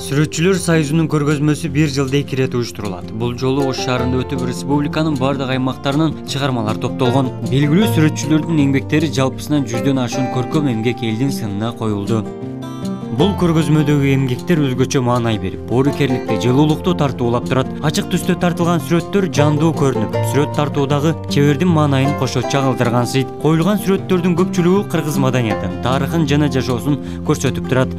Сүрөтчүлөр союзунун көргөзмөсү бир жылда 2 ирет уюштурулат. Бул жолу Ош шаарында өтүп, республиканын бардык аймактарынан чыгармалар топтолгон. Белгилүү сүрөтчүлөрдүн эмгектери жалпысынан 100дөн ашуун көркөм эмгек элдин сынына коюлду. Бул көргөзмөдөгү эмгектер өзгөчө маанай берип, боорукерликти, жылуулукту тартуулап турат. Ачык түстө тартылган сүрөттөр жандуу көрүнүп, сүрөт тартуудагы чебердин маанайын кошочо калтыргансыйт. Коюлган сүрөттөрдүн көпчүлүгү кыргыз маданиятын, тарыхын жана жашоосун көрсөтүп турат.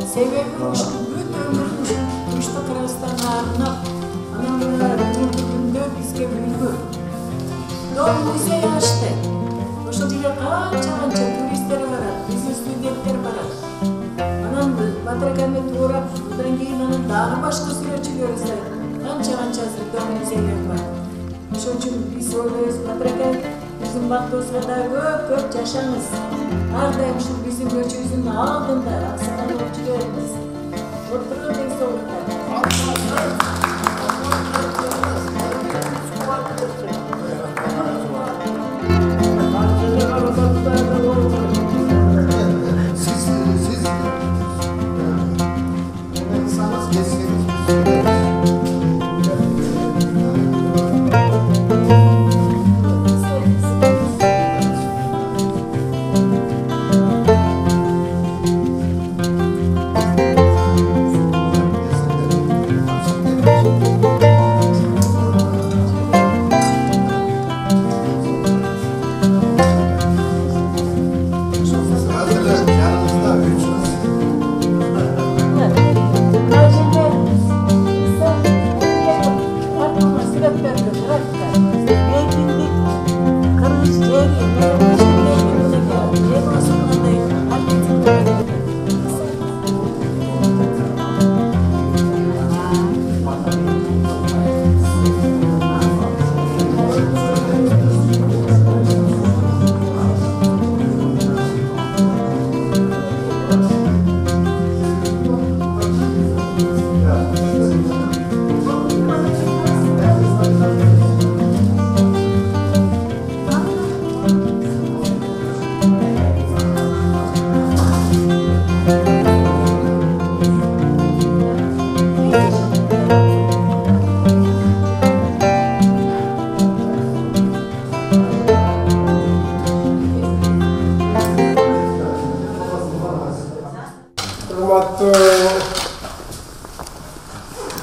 Себеби ушул бүт өмүрүн Турушта Кыргызстанга арнап, анан күндө бизге үлгү. Дом музей ачты. Ошол жерге канча туристтер барат, биздин студенттер барат. Анан Батыр аканы туурап, андан кийин анан дагы башка сүрөтчүлөр канча дом музейлер бар. Ошон үчүн биз ойлойбуз, Батыр ака биздин бактыбызга да көп жашаңыз. Ар дайым ушул биздин көчөбүздүн алдында аксакал болуп жүрөбүз. Отурган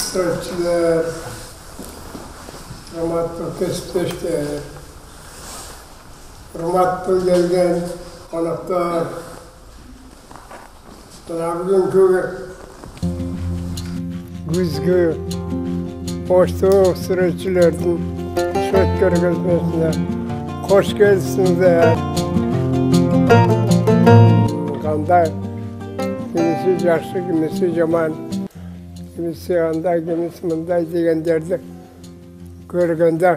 Сүрөтчүлөр, урматтуу кесиптештер, урматтуу келген коноктор, мына бүгүнкү күзгү Оштук сүрөтчүлөрдүн сүрөт көргөзмөсүнө кош келипсиңер. Кандай? Kimisi жакшы, kimisi жаман, kimisi андай, kimisi мындай дегендерди көргөндө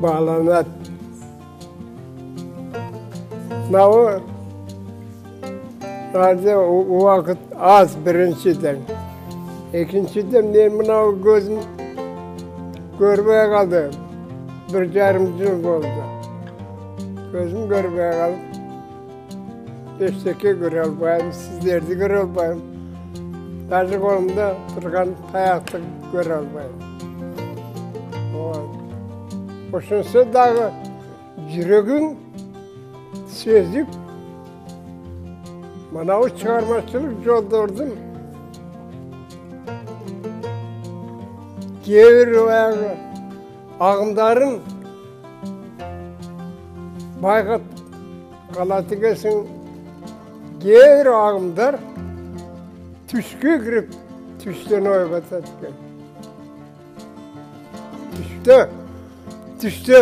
бааланат. Мынау убакыт аз биринчиден. Экинчиден мен мынау көзүм көрбөй калды. 1,5 жыл болду. Көзүм көрбөй калып, эчтеке көрө албайм, сиздерди көрө албайм. Даже колумда турган таякты көрө албайм. Ошонсо дагы жүрөгүң сезип, манау чыгармачылык жолдордун кээ бир баягы агымдарын байкап калат экенсиң. Кээ бир агымдар түшкө кирип, түштөн ойго атат экен. Түштө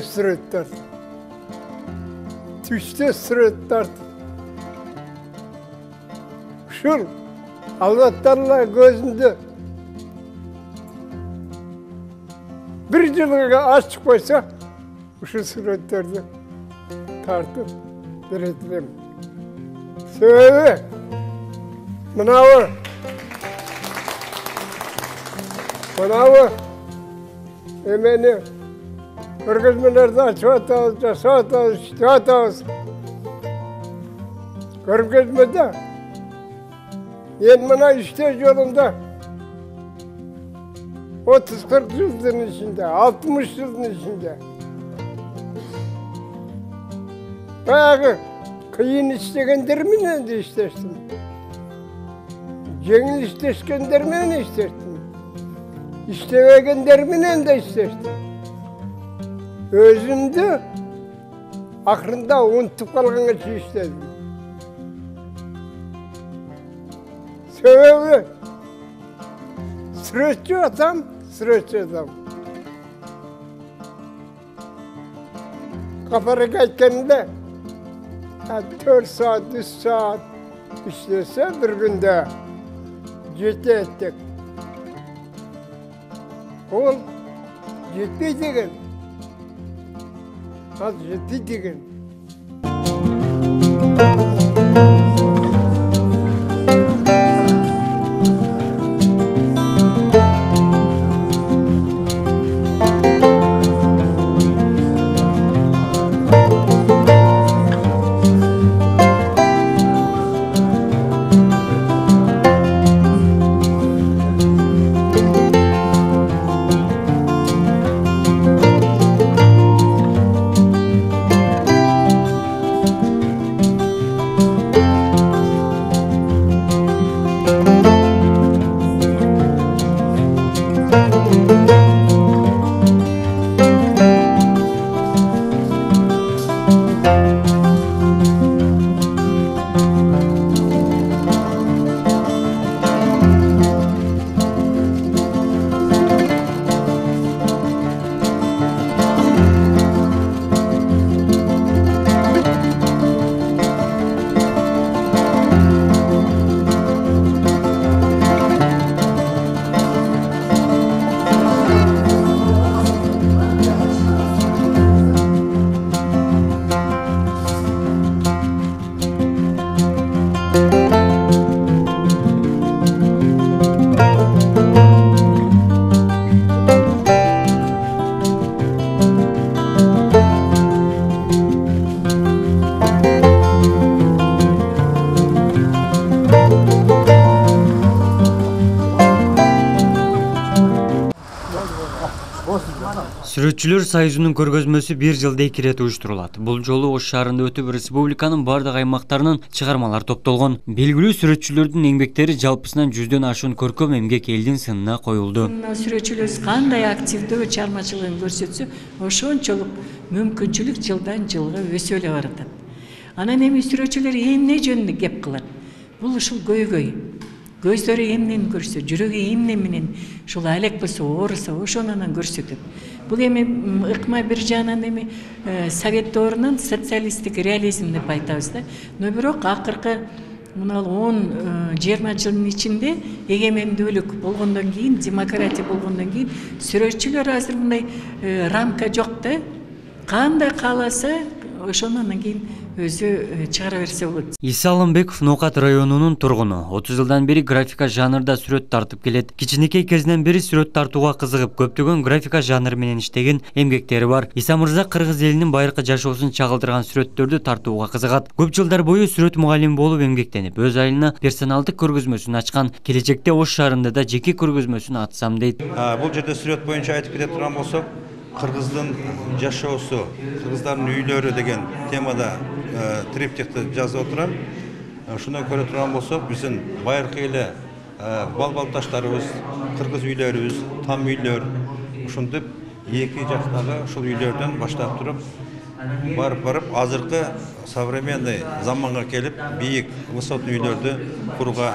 сүрөт тартып. Түштө сүрөт тартып. Ушул албаттанла көзүмдү бир жылга ачып койсо, ушул сүрөттөрдү тартып беретирем. Себеби мынабы Emeni körgözmelerde açıp atağız, jasap atağız, iştep atağız. Körgözmede mına işte yolunda 30-40 yılın içinde, 60 yılın içinde bayağı kıyın istegenlerle de istersin. Жеңил иштешкендер менен иштештим. İştemegендер менен de иштештим. Өзүмдү акырында унутуп калганга чейин иштедим. Себеби сүрөтчү атам. 'Капарга айтканда 4 saat, 3 saat işlese bir günde 7 ettik. Ol жетпей деген. Az жетпей деген. Сүрөтчүлөр союзунун көргөзмөсү 1 жылда 2 ирет уюштурулат. Бул жолу Ош шаарында өтүп, республиканын бардык аймактарынан чыгармалар топтолгон. Белгилүү сүрөтчүлөрдүн эмгектери жалпысынан 100дөн ашуун көркөм эмгек элдин сынына коюлду. Сүрөтчүлөр кандай активдүү чармачылыгын көрсөтсө, ошончолук мүмкүнчүлүк жылдан жылга өсө эле баратат. Анан эми сүрөтчүлөр эмне жөнүндө кеп кылат? Бул ушул көйгөй. Көздөрү эмнени көрсө, жүрөгү эмне менен ушул алек болсо, ооруса, ошонунан көрсөтөт. Бул эми ыкма бир жагынан эми совет доорунун социалисттик реализм деп айтабыз да. Но бирок акыркы мына 10-20 жылдын ичинде эгемендүүлүк болгондон кийин, демократия болгондон кийин сүрөтчүлөр азыр мындай рамка жок да. Кандай кааласа, ошондан кийин өзү чыгара берсе болот. Иса Алымбеков Ноокат районунун тургуну. 30 жылдан бери графика жанрда сүрөт тартып келет. Кичинекей кезинен бери сүрөт тартууга кызыгып, көптөгөн графика жанры менен иштеген эмгектери бар. Иса мырза кыргыз элинин байыркы жашоосун чагылдырган сүрөттөрдү тартууга кызыгат. Көп жылдар бою сүрөт мугалими болуп эмгектенип, өз айылына персоналдык көргөзмөсүн ачкан. Келечекте Ош шаарында да жеке көргөзмөсүн ачсам дейт. Бул жерде сүрөт боюнча айтып кете турган болсок, кыргыздын жашоосу, кыргыздардын үйлөрү деген темада триптихти жазып отурам. Ушуна көрө турган болсок, биздин байыркы эле балбалдаштарыбыз, кыргыз үйлөрүбүз, там үйлөр, ушинтип эки жактагы ушул үйлөрдөн баштап туруп барып азыркы современный заманга келип, бийик, высотный үйлөрдү курууга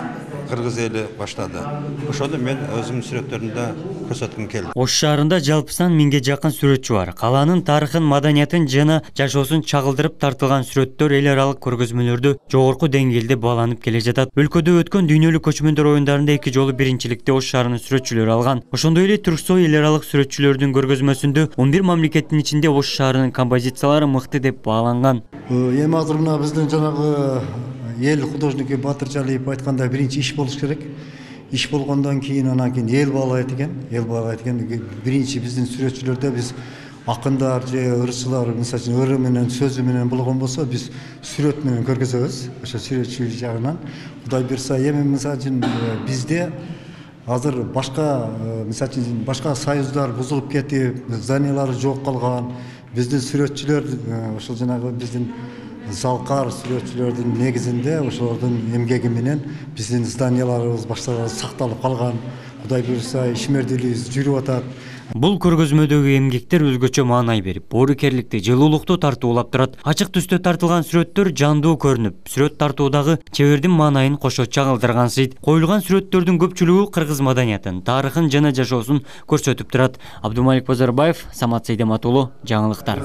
кыргыз эли баштады. Ошону мен өзүмдүн сүрөттөрүмдө көрсөткүм келди. Ош шаарында жалпысынан 1000ге жакын сүрөтчү бар. Калаанын тарыхын, маданиятын жана жашоосун чагылдырып тартылган сүрөттөр эл аралык көргөзмөлөрдө жогорку деңгээлде бааланып келе жатат. Өлкөдө өткөн дүйнөлүк көчмөндөр оюндарында 2 жолу биринчиликти Ош шаарынын сүрөтчүлөрү алган. Ошондой эле Түрксой эл аралык сүрөтчүлөрдүн көргөзмөсүндө 11 мамлекеттин ичинде Ош шаарынын композициялары мыкты деп бааланган. Эми азыр мына биздин жанагы эл художники Батыр Жалиев айткандай биринчи иш болуш керек. иш болгондон кийин анан кийин эл баалайт экен. Биринчи биздин сүрөтчүлөрдө биз акындар же ырчылар мисалы үчүн ыры менен сөзү менен болгон болсо биз сүрөт менен көргөзөбүз. Ошо сүрөтчүлүк жагынан Кудай буйрса эми мисалы үчүн бизде азыр башка мисалы үчүн башка союздар бузулуп кетип, зданиялары жок калган. Биздин сүрөтчүлөр ошол жанагы биздин залкар сүрөтчүлөрдүн негизинде ошолордун эмгеги менен биздин зданияларыбыз баштап сакталып калган. Кудай буйрса ишмердүүлүгүбүз жүрүп атат. Бул көргөзмөдөгү эмгектер өзгөчө маанай берип, боорукерликти, жылуулукту тартуулап турат. Ачык түстө тартылган сүрөттөр жандуу көрүнүп, сүрөт тартуудагы чебердин маанайын кошо чагылдыргансыйт. Коюлган сүрөттөрдүн көпчүлүгү кыргыз маданиятын, тарыхын жана жашоосун көрсөтүп турат. Абдумалик Базарбаев, Самат Сейдемат уулу, жаңылыктар.